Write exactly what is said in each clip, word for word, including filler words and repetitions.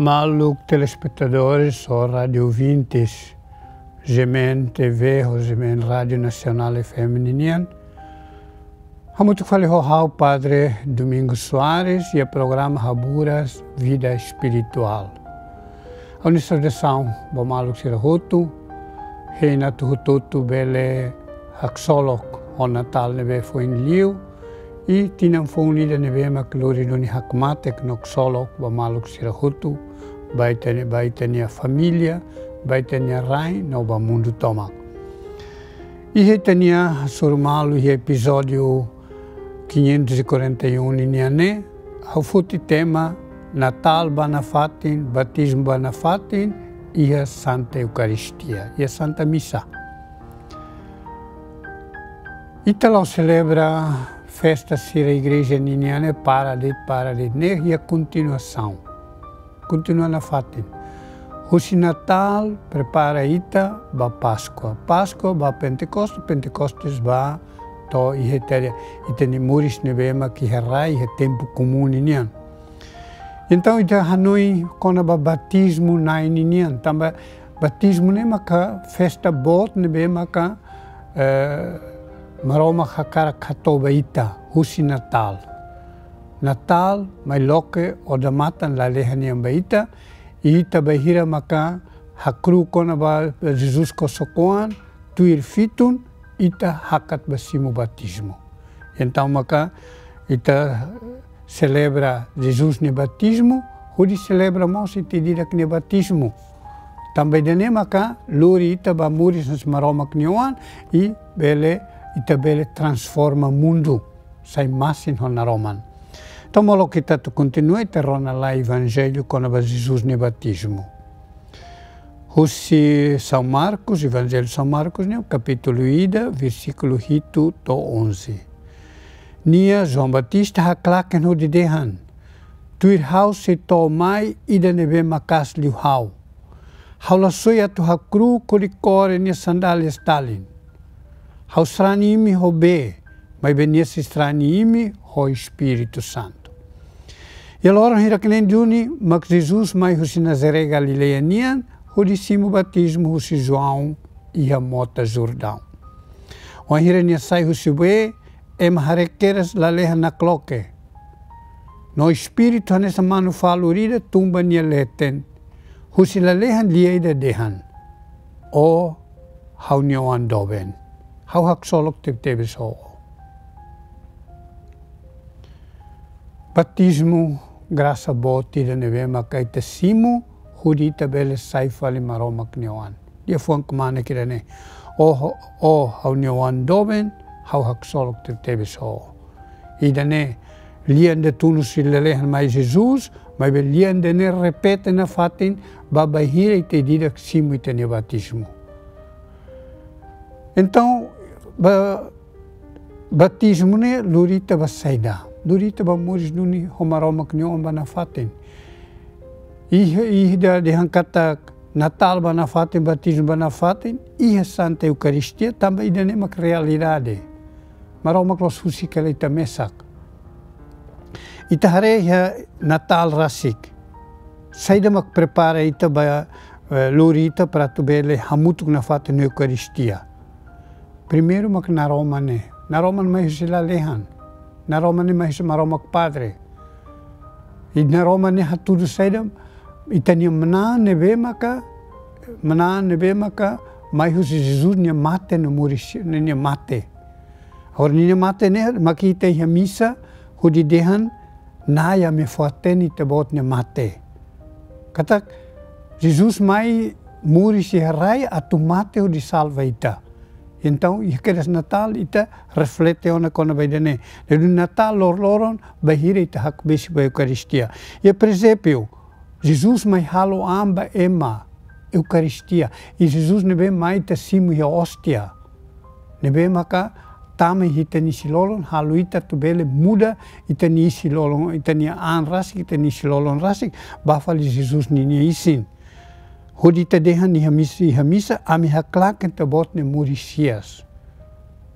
Maluk telespetadores ou rádiu ouvintes, G M N T V ou G M N Rádiu Nasionál F M ninian. Hamutuk fali ho ha'u Padre Domingos Soares iha programa Haburas Vida Espirituál. Ha'u-nia saudasaun ba maluk sira hotu, hein atu hotu-hotu bele haksolok ho Natál ne'ebé foin liu, i tinan foun ida ne'ebé mak lori duni hakmatek no ksolok ba maluk sira hotu, ba ita-nia, ba ita-nia família, ba ita-nia rain, no ba mundu tomak. Iha ita-nia hasoru malu iha epizódiu quinhentos e quarenta e um ninian ne'e, ha'u foti tema Natál ba nafatin, Batizmu ba nafatin, iha Santa Eukaristia, iha Santa Misa. Ita la'o selebra festa sira igreja ninian ne'e para de'it, para de'it, ne'e iha kontinuasaun. Kontinua nafatin. Husi Natál prepara ita ba Páskua. Páskua ba Pentekostes, Pentekostes ba to'o iha ita-nia, ita-nia moris ne'ebé mak iha rai, iha tempu komún ninian. Entaun, ita hanoin kona-ba batizmu-na'in ninian. Tanba batizmu ne'e maka festa boot ne'ebé maka, eh, Maromak hakarak hato'o ba ita husi Natál. Natál mai loke odamatan lalehan nian ba ita, i ita bainhira maka hakru'uk kona-ba Jesus kosok-oan, tuir fitun, ita hakat ba simu batizmu. Entaun maka ita selebra Jesus nia batizmu, hodi selebra mós ita ida-idak nia batizmu. Tanba ida-ne'e maka lori ita ba moris hanesan Maromak nia oan, i bele, ita bele transforma mundu sai masin ho naroman. Entaun molok ita atu kontinua, ita rona lai Evanjellu kona-ba Jesus nia batizmu. Husi São Marcos, Evanjellu São Marcos nian, kapítulu ida, versíkulu hitu to'o onze. Nia, João Batista, haklaken hodi dehan: Tuir ha'u sei to'o mai ida ne'ebé maka'as liu ha'u. Ha'u la soe atu hakru'uk hodi kore nia sandálias talin. Ha'u sarani imi ho bee, maibé nia sei sarani imi ho Espíritu Santu. Iha loron hirak-neen duni mak Jesus mai husi Nazaré Galileia nian, hodi simu batizmu husi João iha mota Jordaun. Wainhira nia sai husi bee, ema haree kedas lalehan nakloke. No Espíritu hanesan manu-falur ida tun ba nia leten. Husi lalehan lia ida dehan: Ó ha'u-nia oan doben, ha'u haksolok tebetebes ho ó. Batizmu grasa boot ida ne'ebé maka ita simu, hodi ita bele sai fali Maromak nia oan. Liafuan kmanek ida-ne'e: Ó, ó ha'u-nia oan doben, ha'u haksolok tebetebes ho ó. Ida-ne'e lian ida tun husi lalehan mai Jesus, maibé lian ida-ne'e repete nafatin ba bainhira ita ida-idak simu ita-nia batizmu. Entaun, ba, batizmu ne'e lori ita ba saida? Lori ita ba moris duni ho Maromak nia oan ba nafatin. Iha, iha ida dehan katak Natál ba nafatin, batizmu ba nafatin, iha Santa Eukaristia, tanba ida-ne'e mak realidade. Maromak la'ós husik hela ita mesak. Ita haree iha Natál rasik, saida mak prepara ita ba, eh, lori ita para atu bele hamutuk nafatin iha Eukaristia? Primeiru mak naroman ne'e. Naroman mai husi lalehan. Naroman ne'e mai husi Maromak Padre. I naroman ne'e hatudu saida? Ita-nia manán ne'ebé maka, manán ne'ebé maka mai husi Jesus nia mate no moris, nia mate. Agora ninia mate ne'e mak ita iha misa hodi dehan: Na'i, ami fó-hatene Ita-Boot nia mate. Katak Jesus mai moris iha rai atu mate hodi salva ita. Entaun, iha kedas Natál ita reflete ona kona-ba ida-ne'e. Jadi Natál loroloron bainhira ita hakbesik ba Eukaristia. Iha presépiu, Jesus mai halo an ba ema, Eukaristia. I Jesus ne'ebé mai ita simu iha óstia. Ne'ebé maka tama iha ita-nia isin-lolon, halo ita atu bele muda ita-nia isin-lolon, ita-nia an rasik, ita-nia isin-lolon rasik, ba fali Jesus ninia isin. Hodi ita dehan iha mis-, iha misa: Ami haklaken Ita-Boot nia moris hi'as.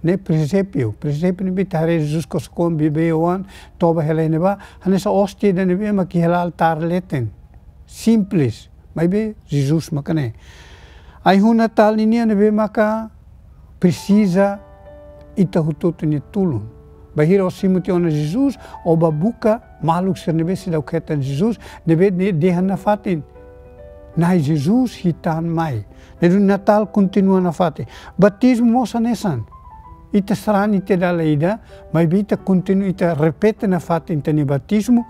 Ne'e presépiu, presépiu ne'ebé ita haree Jesus kosok-oan, bebé-oan, toba hela iha ne'ebá, hanesan óstia ida ne'ebé mak iha altár leten. simples, maibé Jesus maka ne'e. Ai-hun Natál ninian ne'ebé maka presiza ita hotu-hotu nia tulun. Bainhira ó simu tiha ona Jesus, ó bá buka maluk sira ne'ebé seidauk hetan Jesus, ne'ebé ne'e dehan nafatin: Na'i Jesus, hi'it an mai. Ne'e duni Natál kontinua nafatin. Batizmu mós hanesan. Ita sarani tiha dala ida, maibé ita kontinua, ita repete nafatin ita-nia batizmu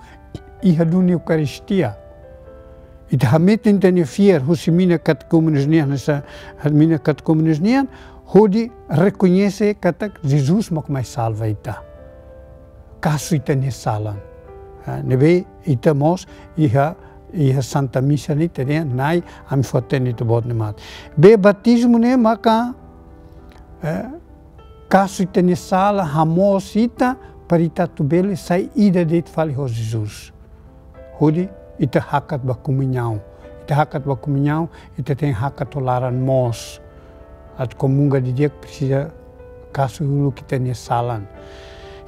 iha duni Eukaristia. Ita hametin ita-nia fiar husi mina katekúmenos nian, hanesan mina katekúmenos nian, hodi rekoñese katak Jesus mak mai salva ita. Kasu ita-nia salan. Ah, ne'ebé ita mós iha, iha Santa Misa ne'e ita dehan: Na'i, ami fó-hatene Ita-Boot nia mate. Be batizmu ne'e maka, eh, kasu ita-nia sala, hamoos ita, para ita atu bele sai ida de'it fali ho Jesus. Hodi ita hakat ba komuñaun. Ita hakat ba komuñaun, ita tenke hakat ho laran moos. Atu komunga didi'ak presiza kasu uluk ita-nia salan.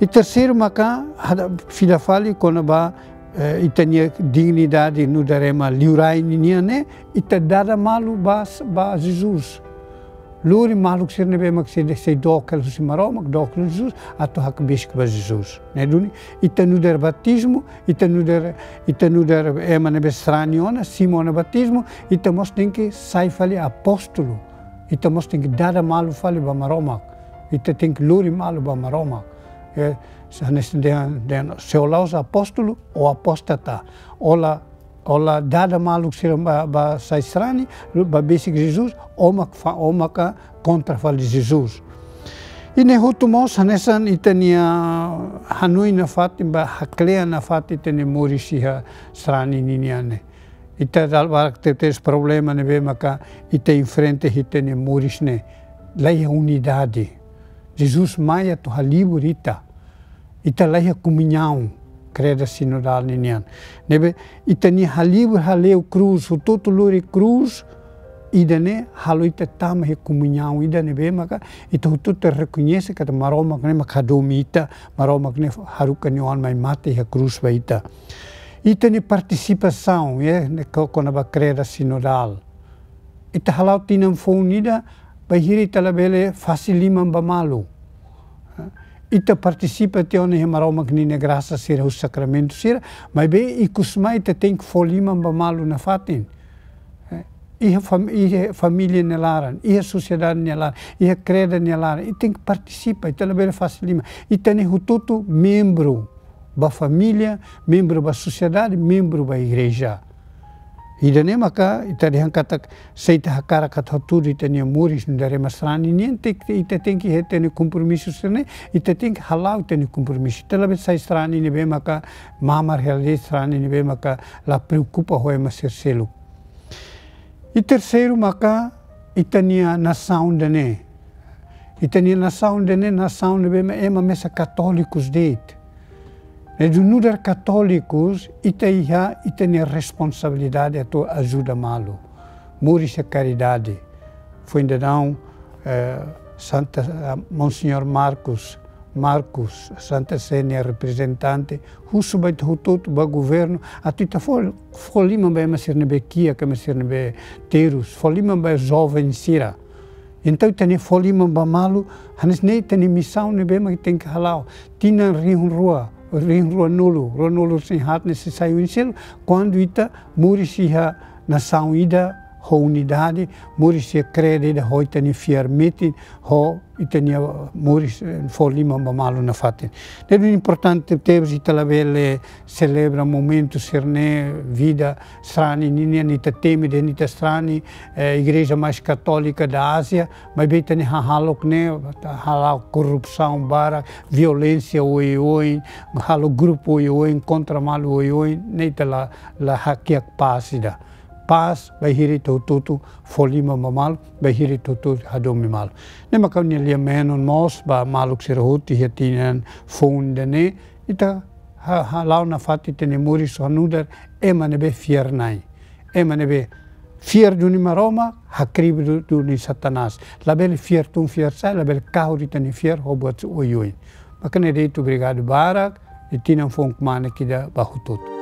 I terseiru maka, hada fila fali kona-ba, eh, ita-nia dignidade nu'udar ema liurai ninian ne'e, ita dada malu ba, ba Jesus. Lori maluk sira ne'ebé mak sei, sei dook hela husi Maromak, dook hela Jesus, atu hakbesik ba Jesus. Ne'e duni, ita nu'udar batizmu, ita nu'udar, ita nu'udar ema ne'ebé sarani ona, simu ona batizmu, ita mós tenke sai fali apóstolu. Ita mós tenke dada malu fali ba Maromak. Ita tenke lori malu ba Maromak. Eh, se, hanesan dehan, dehan, se ó la'ós apóstolu, ó apóstata. Ó la, ó la dada maluk sira ba, ba sai sarani, ba besik Jesus, ó mak fa-, ó maka kontra fali Jesus. I ne'e hotu mós hanesan ita-nia hanoin nafatin ba haklean nafatin ita-nia moris iha sarani ninian ne'e. Ita dala barak tebes problema ne'ebé maka ita enfrenta iha ita-nia moris ne'e. Laiha unidade. Jesus mai atu halibur ita. Ita laiha komuñaun, kreda sinodál ninian. Ne'ebé ita-nia halibur hale'u krús, hotu-hotu lori krús, ida-ne'e halo ita tama iha komuñaun ida ne'ebé maka ita hotu-hotu rekoñese katak Maromak ne'e mak hadomi ita, Maromak ne'e haruka nia Oan mai mate iha krús ba ita. Ita-nia partisipasaun, eh, ne'e ko-, kona-ba kreda sinodál. Ita hala'o tinan foun ida, bainhira ita labele fase liman ba malu. Ita partisipa tiha ona iha Maromak ninia grasa sira husi sakramentu sira, maibé ikus mai ita tenke fó liman ba malu nafatin. Iha fam-, iha família nia laran, iha sosiedade nia laran, iha kreda nia laran, ita tenke partisipa, ita labele fase liman. Ita ne'e hotu-hotu membru ba família, membru ba sosiedade, membru ba igreja. Ida-ne'e maka ita dehan katak se ita hakarak atu hatudu ita-nia moris nu'udar ema sarani nian, te-, ita tenke iha ita-nia kompromisu sira-ne'e, ita tenke hala'o ita-nia kompromisu. Ita labele sai sarani ne'ebé maka mamar hela de'it, sarani ne'ebé maka la preokupa ho ema sira seluk. I terseiru maka ita-nia nasaun ida-ne'e. Ita-nia nasaun ida-ne'e, nasaun ne'ebé ema mesak katólikus de'it. Ne'e duni nu'udar katólikus, ita iha ita-nia responsabilidade atu ajuda malu. Moris iha karidade. Foin daudaun, eh, Santa, ah, Monseñór Marcos, Marcos, Santa Sé nia reprezentante, husu ba ita hotu-hotu, ba governu, atu ita fó, fó liman ba ema sira ne'ebé kiak, ema sira ne'ebé terus, fó liman ba joven sira. Entaun, ita-nia fó liman ba malu, hanesan ne'e ita-nia misaun ne'ebé mak ita tenke hala'o. Tinan rihun rua, rihun ruanulu, ruanulu-resin-haat ne'e sei sai oin seluk, kuandu ita moris iha nasaun ida ho unidade, moris iha kreda ida ho ita-nia fiar metin, ho ita-nia moris, eh, fó liman ba malu nafatin. Ne'e duni importante tebes, ita labele selebra momentu sira-ne'e, vida sarani ninian, ita temi dehan ita sarani, eh, igreja mais católica da Ásia, maibé ita-nia hahalok ne'e hala'o korrupsaun barak, violénsia oioin, halo grupu oioin, kontra malu oioin, ne'e ita la, la hakiak pás ida. Pás bainhira ita hotu-hotu fó liman ba malu, bainhira ita hotu-hotu hadomi malu. Ne'e maka ha'u-nia lia-menon mós ba maluk sira hotu iha tinan foun ida-ne'e, ita ha-, hala'o nafatin ita-nia moris hanu'udar ema ne'ebé fiar-na'in. Ema ne'ebé fiar duni Maromak, hakribi du-, duni Satanás. Labele fiar tun fiar sa'e, labele kahur ita-nia fiar ho buat oioin. Maka ne'e de'it, obrigadu barak, i tinan foun kmanek ida ba hotu-hotu.